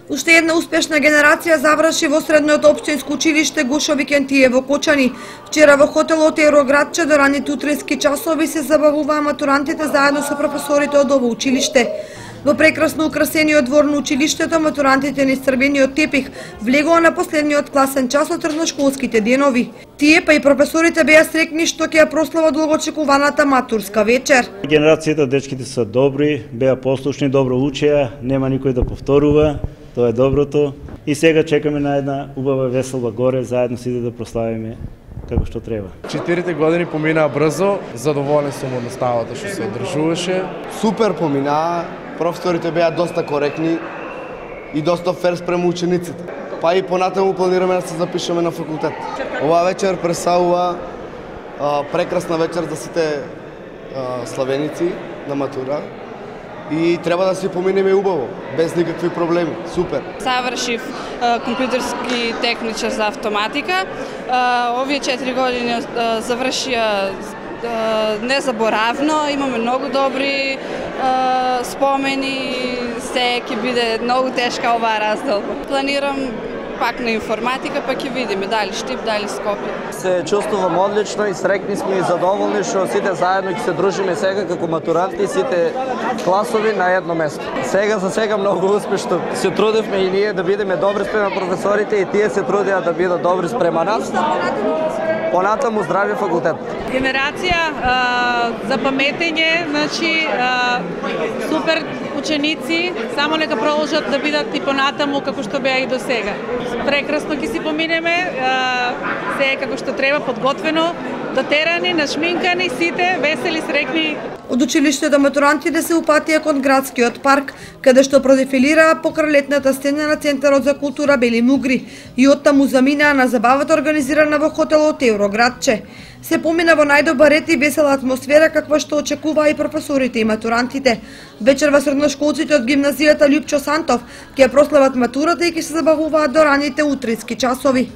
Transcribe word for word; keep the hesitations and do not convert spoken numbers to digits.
Уште една успешна генерација заврши во средното општинско училиште Гошо Викентие во Кочани. Вчера во хотелот Евроградче до ранните утрински часови се забавуваа матурантите заедно со професорите од ово училиште. Во прекрасно украсениот двор на училиштето, матурантите низ црвениот тепих влегоа на последниот класен час од средношколските денови. Тие па и професорите беа срекни што ќе ја прослават долгоочекуваната матурска вечер. Генерацијата дечките се добри, беа послушни, добро учеа, нема никој да повторува, тоа е доброто. И сега чекаме на една убава весела горе, заедно сите да прославиме како што треба. Четирите години поминаа брзо, задоволен сум од наставата што се одржуваше. Супер поминаа, професорите беа доста коректни и доста фер спрема учениците. Па и понатаму планираме да се запишеме на факултет. Оваа вечер пресаува а, прекрасна вечер за сите а, славеници на матура. И треба да си поминеме убаво, без никакви проблеми. Супер. Завршив компјутерски техничар за автоматика. Овие четири години завршија незаборавно, имаме многу добри спомени, се ќе биде многу тешка оваа разделба. Планирам пак на информатика, па ќе видиме дали Штип, дали Скопје. Се чувствувам одлично и срекни сме и задоволни што сите заедно ќе се дружиме сега како матуранти, сите класови на едно место. Сега за сега многу успешно се трудевме и ние да бидеме добри спрема професорите и тие се трудеа да бидат добри спрема нас. Понатаму здрави факултет. Генерација а, за паметење, значи а, супер ученици, само нека продолжат да бидат и понатаму како што беа и до сега. Прекрасно ќе си поминеме, а, се како што треба, подготвено, дотерани, нашминкани, сите весели, срекни. Од училиштето матурантите се упатија кон градскиот парк, каде што продефилираа покрај летната сцена на Центарот за култура Бели Мугри и оттаму заминаа на забавата организирана во хотелот Евроградче. Се помина во најдобар ред и весела атмосфера каква што очекуваа и професорите и матурантите. Вечерва средношколците од гимназијата Љупчо Сантов ќе прослават матурата и ќе се забавуваат до раните утрински часови.